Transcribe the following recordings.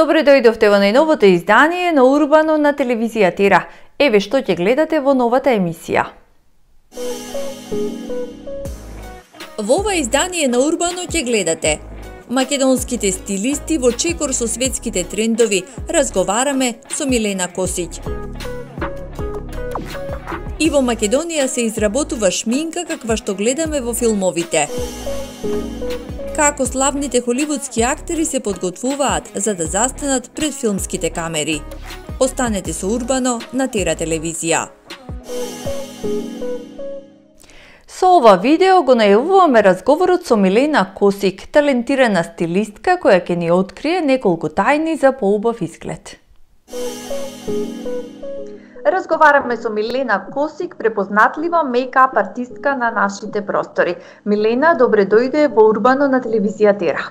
Добре дојдовте во најновото издание на Урбано на телевизија Тера. Еве што ќе гледате во новата емисија. Во ова издание на Урбано ќе гледате македонските стилисти во чекор со светските трендови. Разговараме со Милена Косиќ. И во Македонија се изработува шминка каква што гледаме во филмовите. Како славните холивудски актери се подготвуваат за да застанат пред филмските камери. Останете со Урбано на Тера телевизија. Со ова видео го најавуваме разговорот со Милена Косиќ, талентирана стилистка која ќе ни открие неколку тајни за поубав изглед. Разговараме со Милена Косиќ, препознатлива мејкап артистка на нашите простори. Милена, добре дојде во Урбано на телевизија Тера.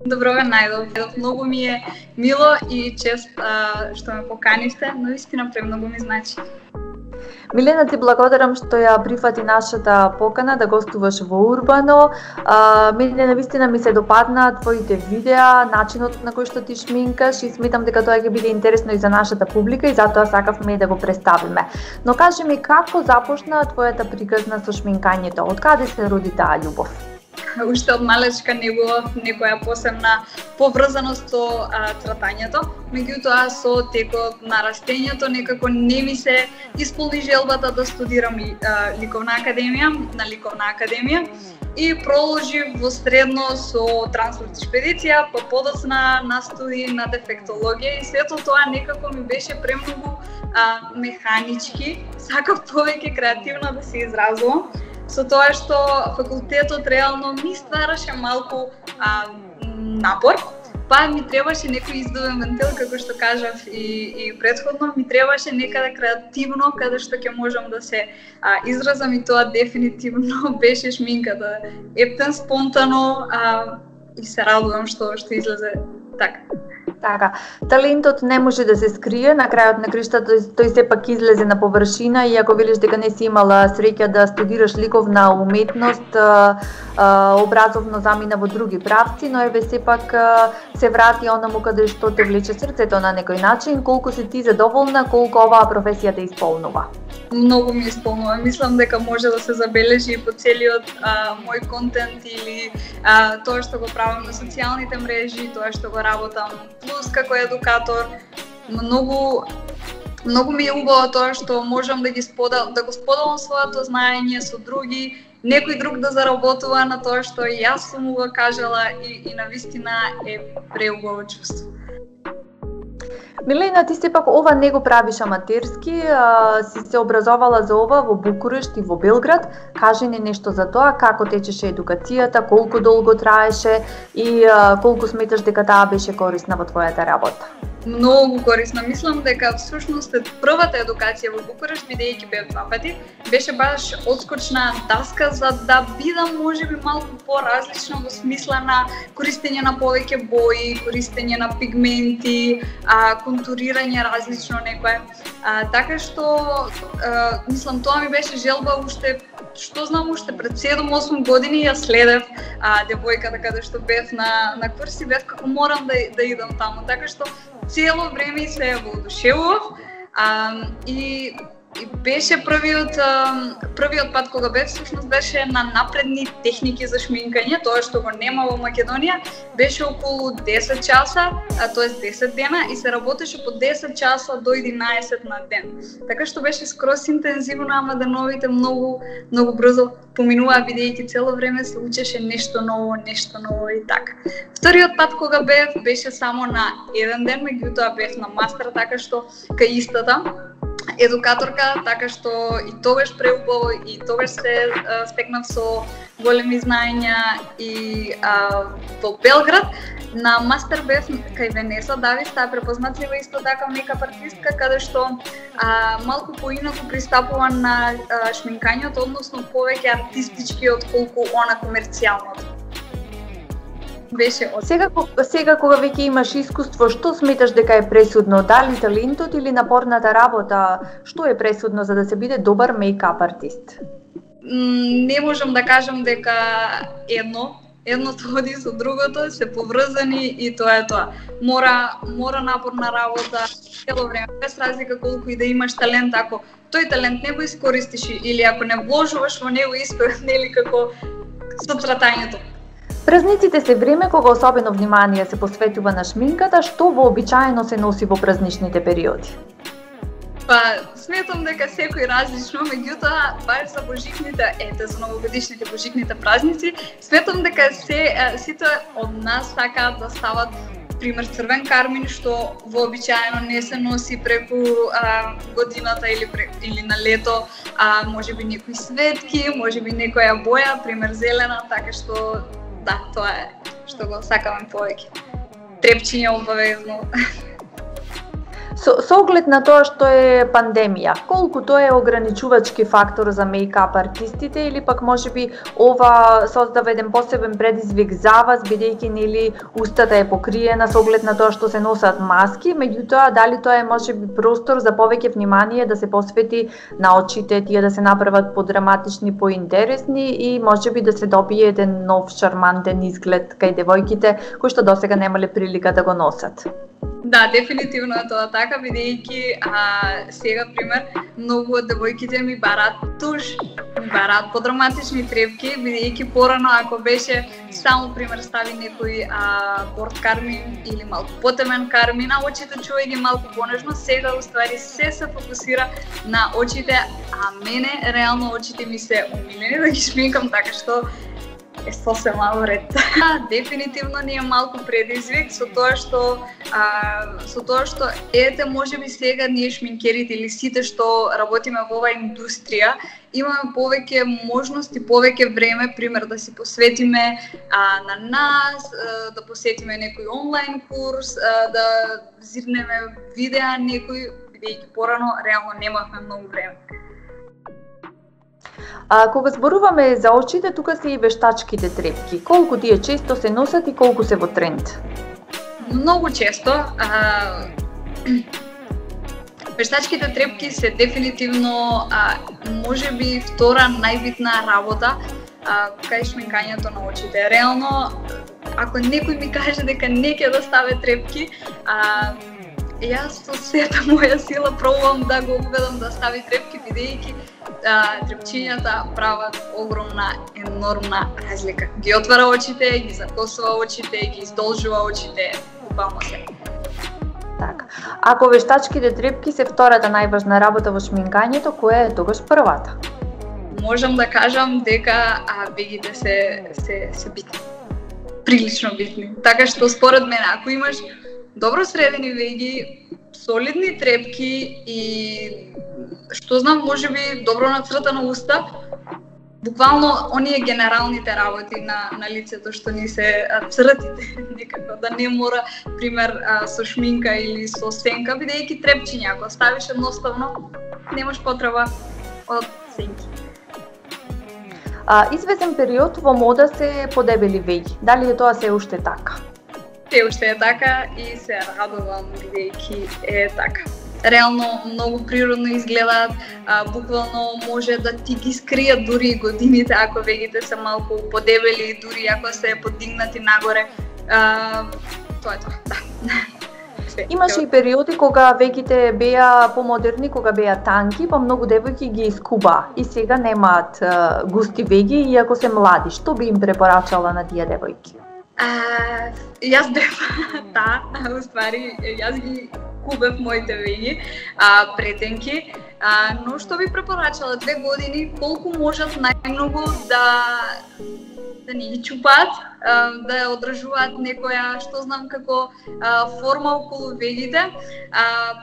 Добро ве најдов. Многу ми е мило и чест што ме поканивте, но вистина премногу ми значи. Милена, ти благодарам што ја прифати нашата покана да гостуваш во Урбано. Мене навистина ми се допадна твоите видеа, начинот на кој што ти шминкаш и сметам дека тоа ќе биде интересно и за нашата публика и затоа сакавме да го представиме. Но кажи ми, како започна твојата приказна со шминкањето? Од каде се роди таа љубов? Уште од малечка негував некоја посебна поврзаност со цратањето, меѓутоа со текот на растењето некако не ми се исполни желбата да студирам ликовна академија и проложив во средно со транспорт и шпедиција, па подоцна на студии на дефектологија и сето тоа некако ми беше премногу механички, сакав повеќе креативно да се изразувам. Со тоа што факултетот реално ми ствараше малку напор, па ми требаше некој издувен вентил, како што кажав и претходно, ми требаше некаде креативно, каде што ќе можам да се изразам и тоа дефинитивно беше шминката. Ептен, спонтано и се радувам што излезе така. Така, талентот не може да се скрие, на крајот на криштата тој сепак излезе на површина и ако велиш дека не си имала среќа да студираш ликовна уметност, образовно замина во други правци, но еве сепак се врати онаму каде што те влече срцето на некој начин. Колку си ти задоволна, колку оваа професија те исполнува? Многу ми исполнува. Мислам дека може да се забележи и по целиот мој контент или тоа што го правам на социјалните мрежи, тоа што го работам плюс како едукатор. Многу ми е убаво тоа што можам да го споделам своето знаење со други, некој друг да заработува на тоа што и јас сум го кажала и навистина е преубаво чувство. Милена, ти сепак ова не го правиш аматерски, си се образовала за ова во Букурешт и во Белград. Кажи ни нешто за тоа, како течеше едукацијата, колку долго траеше и колку сметаш дека таа беше корисна во твојата работа? Многу корисна. Мислам дека всушност првата едукација во Букурешт, бидејќи бев 2 пати, беше баш одскочна даска за да бидам можеби малку поразлична во смисла на користење на повеќе бои, користење на пигменти, контурирање различно некое. Така што мислам тоа ми беше желба уште пред 7-8 години ја следев девојката каде што бев на курси, бев како морам да идам таму. Така што цело време се воодушевував и беше првиот пат кога бев, всушност беше на напредни техники за шминкање, тоа што го нема во Македонија, беше околу 10 часа, тоест 10 дена и се работеше по 10 часа до 11 на ден. Така што беше скроз интензивно, ама деновите многу брзо поминуваа бидејќи цело време се учеше нешто ново и така. Вториот пат кога бев беше само на 1 ден, меѓутоа бев на мастер, така што кај истата едукаторка, така што и тогаш преубаво и тогаш се стекнав со големи знаења и во Белград. На мастер бев кај Венеса Давис, таа препознатлива исто така мејкап артистка, каде што малку поинаку пристапува на шминкањето, односно повеќе артистички отколку она комерцијалното. Сега кога веќе имаш искуство, што сметаш дека е пресудно? Дали талентот или напорната работа? Што е пресудно за да се биде добар мејкап артист? Не можам да кажам дека едно едното оди со другото, се поврзани и тоа е тоа. Мора напорна работа цело време, без разлика колку и да имаш талент, ако тој талент не го искористиш или ако не вложуваш во него исто, нели како со цратањето. Празниците се време кога особено внимание се посветува на шминката, што вообичаено се носи во празничните периоди. Па, сметам дека секој различно, меѓутоа, баш за божикните, за новогодишните божикните празници, сметам дека сите од нас сакаат да стават, пример, црвен кармин, што вообичаено не се носи преку годината или на лето, можеби некои светки, можеби некоја боја, пример зелена, така што, да, тоа е што го сакаме повеќе. Трепчиња обавезно. Со оглед на тоа што е пандемија, колку тоа е ограничувачки фактор за мејкап артистите или пак можеби ова создава еден посебен предизвик за вас, бидејќи нели устата е покриена со оглед на тоа што се носат маски, меѓутоа дали тоа е можеби простор за повеќе внимание да се посвети на очите, тие да се направат подраматични, поинтересни и можеби да се добие еден нов шармантен изглед кај девојките кои што досега немале прилика да го носат. Да, дефинитивно е тоа така, бидејќи сега, пример, многу од девојките ми бараат туш, ми бараат подраматични трепки, бидејќи порано ако беше само, пример, стави некој борд кармин или малку потемен кармин, а очите чувај ги малку понежно, сега уствари се фокусира на очите, а мене реално очите ми се умилени да ги шминкам, така што е сосем ред. Дефинитивно ни е малку предизвик со тоа што ете можеби сега ние шминкерите или сите што работиме во оваа индустрија имаме повеќе можности, повеќе време, пример да си посветиме на нас, да посетиме некој онлайн курс, да зирнеме видеа некој, бидејќи порано реално немавме многу време. Кога зборуваме за очите, тука се и вештачките трепки. Колку тие често се носат и колку се во тренд? Многу често. Вештачките трепки се дефинитивно можеби втора најбитна работа кај шминкањето на очите. Реално, ако некој ми каже дека не ќе да стави трепки, јас со сета моја сила пробувам да го убедам да стави трепки, бидејќи трепчињата прават огромна, енормна разлика. Ги отвара очите, ги закосува очите, ги издолжува очите, буквално се. Така. Ако вештачките трепки се втората најважна работа во шминкањето, која е тогаш првата? Можам да кажам дека вегите се битни. Прилично битни. Така што според мене, ако имаш добро средени веги, солидни трепки и што знам, можеби добро нацртана уста, буквално оние генералните работи на лицето што ни се цртите, некако да не мора, пример, со шминка или со сенка, бидејќи трепчиња, ако ставиш едноставно, немаш потреба од сенки. Известен период во мода се подебели веги. Дали е тоа се уште така? Се уште е така и се радувам бидејќи е така. Реално многу природно изгледаат, буквално може да ти ги скријат дури годините ако вегите се малку подебели, дури ако се подигнати нагоре. Тоа е тоа, да. Имаше и периоди кога вегите беа помодерни, кога беа танки, па многу девојки ги искуба и сега немаат густи веги иако се млади. Што би им препорачала на тие девојки? Јас бев уствари, јас ги кубев моите веги, претенки, но што би препорачала 2 години, колку можат најмногу да ни ги чупаат, да одржуваат некоја, што знам како форма околу вегите,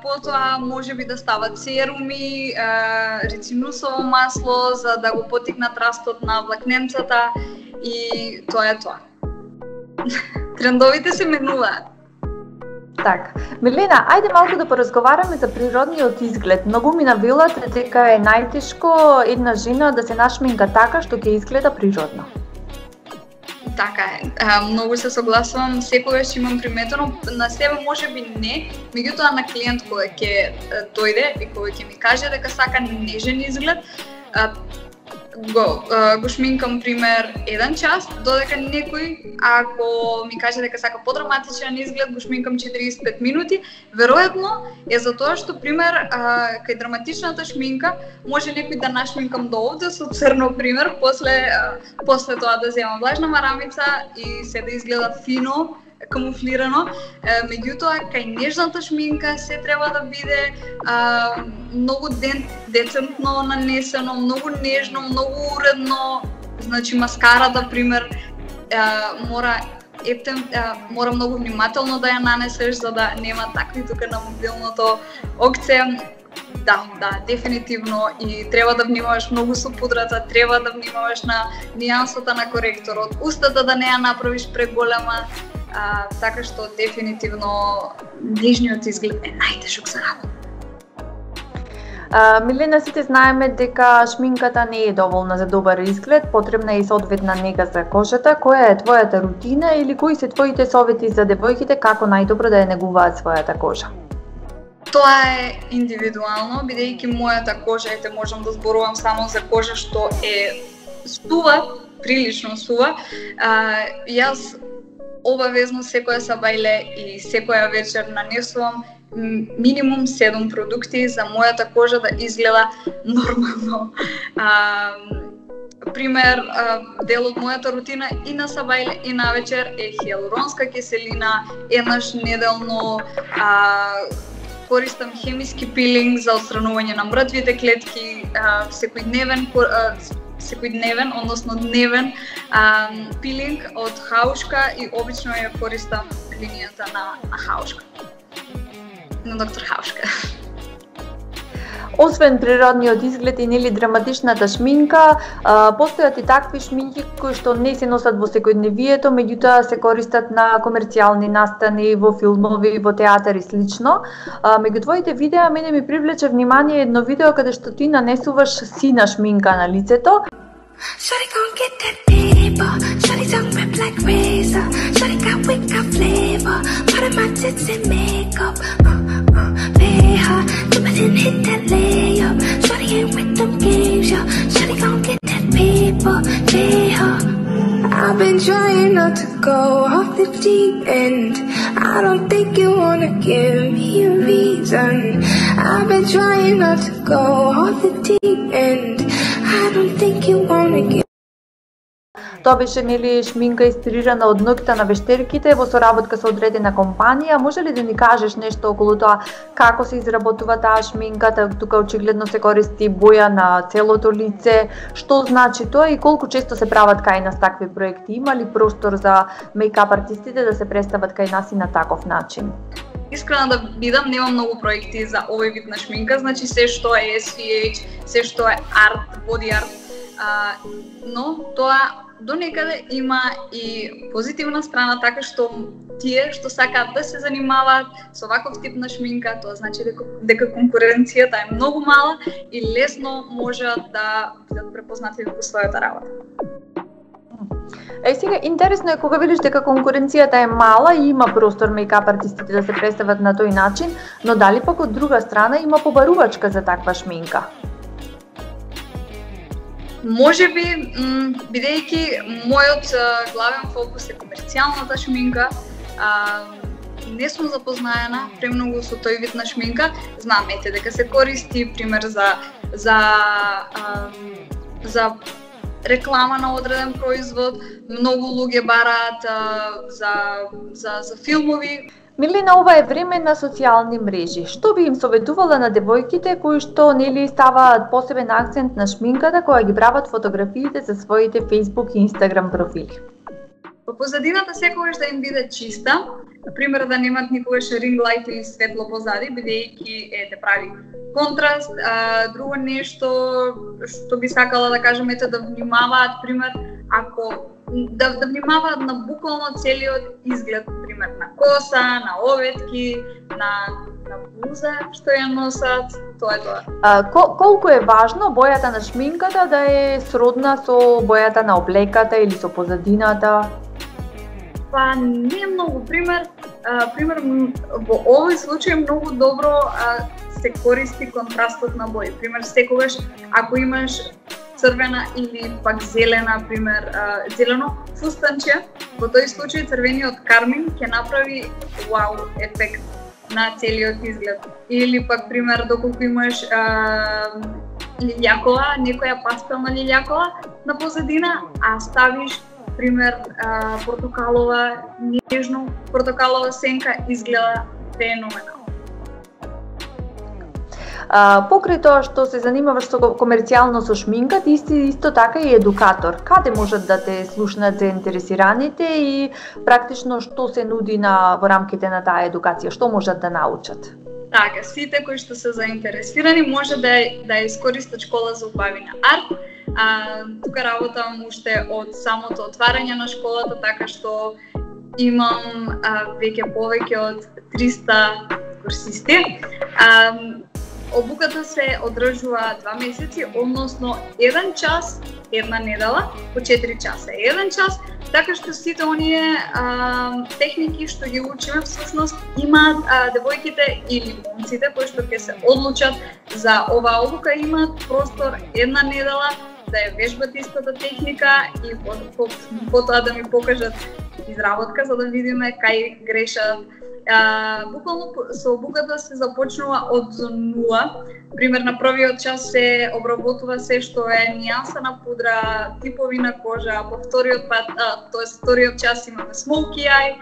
потоа можеби да стават серуми, рецинусово масло за да го поттикнат растот на влакненцата и тоа е тоа. Трендовите се менуваат. Така. Милена, ајде малку да поразговараме за природниот изглед. Многу ми навелате дека е најтешко една жена да се нашминка така што ќе изгледа природно. Така е. Многу се согласувам, секогаш имам приметено, на себе можеби не, меѓутоа на клиент кој ќе дојде и кој ќе ми каже дека сака нежен изглед, го шминкам пример 1 час, додека некој ако ми каже дека сака подраматичен изглед, го шминкам 45 минути. Веројатно е затоа што пример кај драматичната шминка може некој да нашминкам до овде со црно пример, после тоа да земам влажна марамица и се да изгледа фино, камуфлирано. Меѓутоа, кај нежната шминка се треба да биде многу децентно нанесено, многу нежно, многу уредно. Значи, маскарата, пример, мора многу внимателно да ја нанесеш, за да нема такви тука на мобилното окце. Да, дефинитивно, и треба да внимаваш многу со пудрата, треба да внимаваш на нијансата на коректорот, устата да не ја направиш преголема, така што дефинитивно нижниот изглед е најтешок за работа. Милена, сите знаеме дека шминката не е доволна за добар изглед, потребна е и соодветна нега за кожата. Која е твојата рутина или кои се твоите совети за девојките како најдобро да ја негуваат својата кожа? Тоа е индивидуално, бидејќи мојата кожа, можам да зборувам само за кожа што е сува, прилично сува. Јас обавезно секоја сабајле и секоја вечер нанесувам минимум 7 продукти за мојата кожа да изгледа нормално. Пример, дел од мојата рутина и на сабајле и на вечер е хиалуронска киселина, еднаш неделно. Користам хемиски пилинг за отстранување на мртвите клетки, секојдневен, односно дневен пилинг од Хаушка и обично ја користам линијата на Хаушка. На доктор Хаушка. Освен природниот изглед и нели драматичната шминка, постојат и такви шминки кои што не се носат во секојдневието, меѓутоа се користат на комерцијални настани, во филмови, во театар и слично. Меѓу твоите видеа мене ми привлече внимание едно видео каде што ти нанесуваш сина шминка на лицето. Shawty gon' get that paper. Shawty tongue rip like razor. Shawty got wit, got flavor. Part of my tits and makeup. Pay her, jump and hit that layup. Shawty ain't with them games, yo. Shawty gon' get that paper. Pay her. I've been trying not to go off the deep end. I don't think you wanna give me a reason. I've been trying not to go off the deep end. I don't think you wanna give. Тоа беше нели шминка инспирирана од ноќта на вештерките во соработка со одредена компанија. Може ли да ни кажеш нешто околу тоа како се изработува таа шминка? Тука очигледно се користи боја на целото лице. Што значи тоа и колку често се прават кај нас такви проекти? Има ли простор за мејкап артистите да се представат кај нас и на таков начин? Искрено да бидам, немам многу проекти за овој вид на шминка, значи се што е SVH, се што е арт, боди арт, но тоа до некаде има и позитивна страна, така што тие што сакаат да се занимаваат со ваков тип на шминка, тоа значи дека конкуренцијата е многу мала и лесно можат да бидат препознати во својата работа. Сега, интересно е кога видиш дека конкуренцијата е мала и има простор мејкап артистите да се представат на тој начин, но дали пак од друга страна има побарувачка за таква шминка? Може би, бидејќи мојот главен фокус е комерцијалната шминка, не сум запознаена премногу со тој вид на шминка. Знам дека се користи пример за реклама на одреден производ, многу луѓе бараат за филмови. Милена, ова е време на социјални мрежи. Што би им советувала на девојките кои што нели ставаат посебен акцент на шминката кога ги прават фотографиите за своите Facebook и Instagram профили? По позадината секогаш да им биде чиста, например да немат никогаш ринг лајт или светло позади, бидејќи те прави контраст. Друго нешто што би сакала да кажам е да внимаваат, пример, ако да внимаваат на буквално целиот изглед, пример на коса, на оветки, на блуза што ја носат, тоа е тоа. Колку е важно бојата на шминката да е сродна со бојата на облеката или со позадината? Па не многу, пример во овој случај многу добро се користи контрастот на бои. Пример, секогаш ако имаш црвена или пак зелена, пример зелено фустанче. Во тој случај црвениот кармин ќе направи вау ефект на целиот изглед. Или пак пример доколку имаш лилјакова, некоја пастелна лилјакова на позадина, а ставиш пример портокалова, нежно портокалова сенка, изгледа феноменално. Покрај тоа што се занимаваш со комерцијално со шминка, ти исто така и едукатор. Каде можат да те слушнат заинтересираните и практично што се нуди во рамките на таа едукација, што можат да научат? Така, сите кои што се заинтересирани може да искористат школа за убави на арт. Тука работам уште од самото отварање на школата, така што имам веќе повеќе од 300 курсисти. Обуката се одржува 2 месеци, односно 1 час, една недела, по 4 часа. 1 час, така што сите оние техники што ги учиме, всушност имаат девојките или момците кои што ќе се одлучат за оваа обука, имаат простор 1 недела да ја вежбат истата техника и потоа да ми покажат изработка за да видиме кај грешат. Буквално со обуката се започнува од нула. Пример, на првиот час се обработува се што е нијанса на пудра, типови на кожа, по вториот пат, вториот час имаме smoky eye,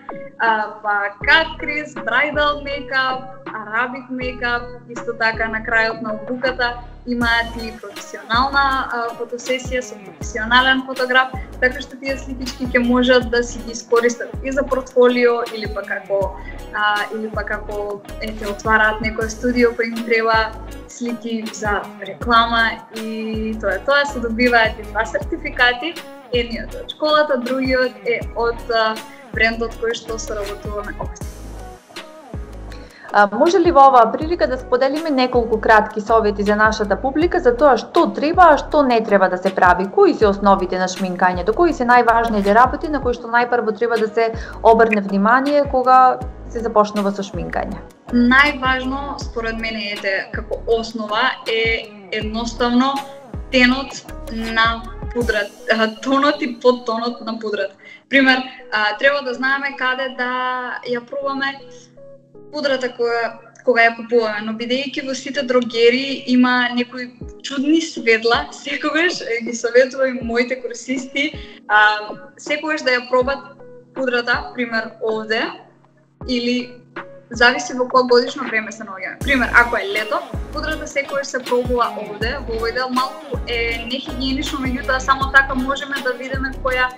па cut crease, bridal makeup, Arabic makeup, исто така на крајот на обуката имаат и професионална фотосесија со професионален фотограф, така што тие сликички ќе можат да си ги искористат и за портфолио или пак како отвараат некој студио кој им треба слики за реклама и тоа се добиваат и 2 сертификати, едниот од школата, другиот е од брендот кој што соработуваме обшто. Може ли во оваа прилика да споделиме неколку кратки совети за нашата публика за тоа што треба, а што не треба да се прави? Кои се основите на шминкањето? Кои се најважните работи на кои што најпрво треба да се обрне внимание кога се започнува со шминкање? Најважно, според мене, како основа е едноставно тенот на пудрат, тонот и подтонот на пудрат. Пример, треба да знаеме каде да ја пробаме пудрата кога ја купуваме, но бидејќи во сите дрогери има некои чудни светла, секогаш ги советувам моите курсисти, секогаш да ја пробат пудрата, пример овде, или зависи во кој годишно време се наоѓаме. Пример, ако е лето, пудрата секогаш се пробува овде, во овој дел малку е нехигиенично, меѓутоа само така можеме да видиме која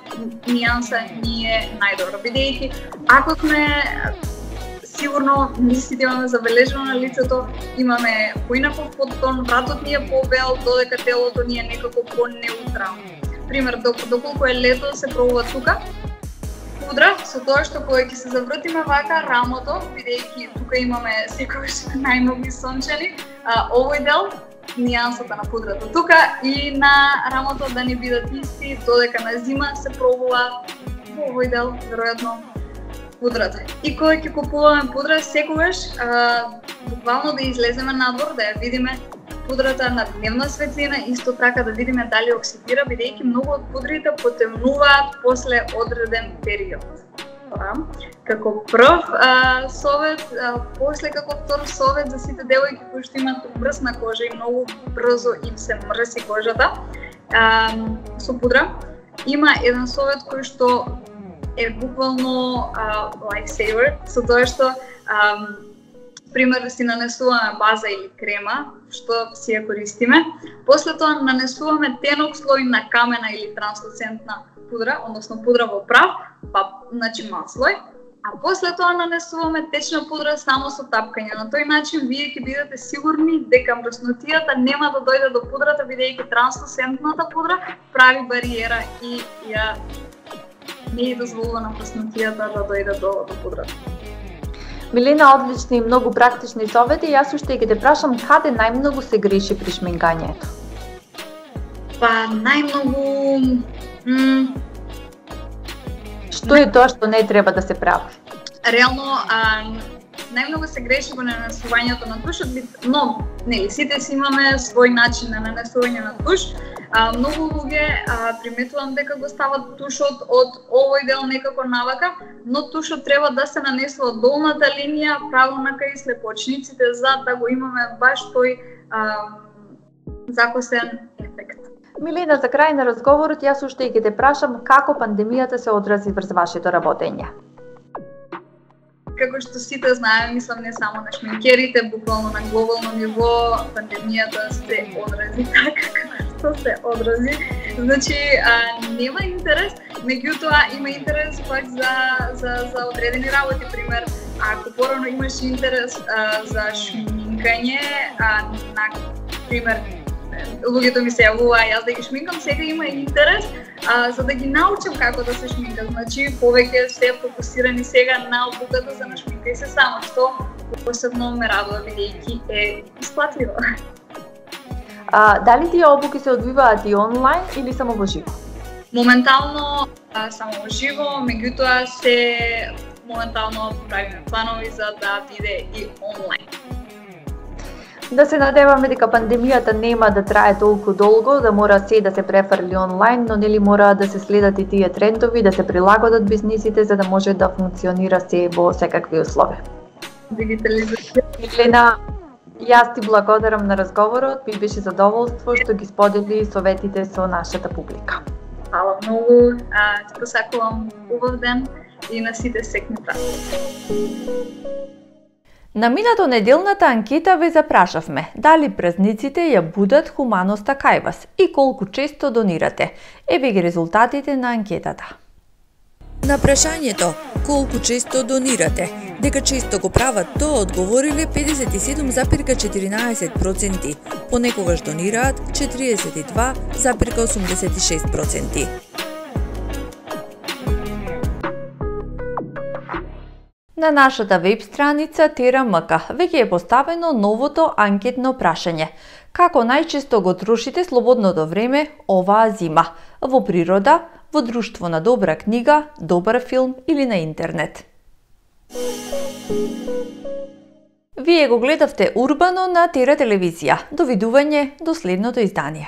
нијанса ни е најдобра. Бидејќи ако сме сигурно сите имаме забележено на лицето, имаме поинаков подтон, вратот ни е побел, додека телото ни е некако по-неутрално. Пример, доколку е лето се пробува тука пудра, со тоа што кога ќе се завртиме вака рамото, бидејќи тука имаме секогаш најмногу сончени, овој дел нијансата на пудрата тука и на рамото да не бидат исти, додека на зима се пробува во овој дел веројатно пудрата. И кога ќе купуваме пудра, секогаш буквално да излеземе надвор, да ја видиме пудрата на дневна светлина, исто така да видиме дали оксидира, бидејќи многу од пудрите потемнуваат после одреден период. Како прв совет, после како втор совет за сите девојки кои што имаат мрсна кожа и многу брзо им се мрси кожата со пудра, има еден совет кој што е буквално lifesaver, со тоа што пример да си нанесуваме база или крема, што си ја користиме, после тоа нанесуваме тенок слој на камена или транслуцентна пудра, односно пудра во прав, па значи мал слој, а после тоа нанесуваме течна пудра само со тапкање. На тој начин вие ќе бидете сигурни дека мръснотијата нема да дојде до пудрата, бидејќи транслуцентната пудра прави бариера и ја не е дозволува на мръснотијата да дојде до пудрата. Милена, одлични и многу практични совети. Јас уште ќе те прашам каде најмногу се греши при шминкањето? Па најмногу Што е тоа што не треба да се прави? Реално најмногу се греши во нанесувањето на туш, но нели сите си имаме свој начин на нанесување на туш. Многу луѓе приметувам дека го стават тушот од овој дел некако навака, но тушот треба да се нанесува од долната линија правилно кај слепоочниците за да го имаме баш тој закосен ефект. Милена, за крај на разговорот јас уште ќе те прашам како пандемијата се одрази врз вашето работење. Како што сите знаеме, мислам не само на шминкерите, буквално на глобално ниво, пандемијата се одрази така како што се одрази. Значи, нема интерес, меѓутоа има интерес пак за одредени работи, пример, ако порано имаше интерес за шминкање, на пример, луѓето ми се јавува јас да ги шминкам, сега има интерес за да ги научам како да се шминкам. Значи, повеќе се фокусирани сега на обуката за на шминкај се само, што посебно ме радува бидејќи е исплатливо. Дали тие обуки се одвиваат и онлайн или само во живо? Моментално само во живо, меѓутоа се моментално правиме планови за да биде и онлайн. Да се надеваме дека пандемијата нема да трае толку долго, да мора се да се префрли онлайн, но нели мора да се следат и тие трендови, да се прилагодат бизнисите за да може да функционира се во секакви услови. Дигитализација. Милена, јас ти благодарам на разговорот, ми беше задоволство што ги сподели советите со нашата публика. Фала многу, ти посакувам убав ден и на сите секни празници. На минато неделната анкета ве запрашавме дали празниците ја будат хуманоста кај вас и колку често донирате. Еве ги резултатите на анкетата. На прашањето колку често донирате, дека често го прават тоа одговориле 57,14%, понекогаш донираат 42,86%. На нашата веб страница ТРМК веќе е поставено новото анкетно прашање. Како најчесто го трошите слободното време оваа зима? Во природа, во друштво на добра книга, добар филм или на интернет? Вие го гледавте Урбано на ТР телевизија. Довидување до следното издание.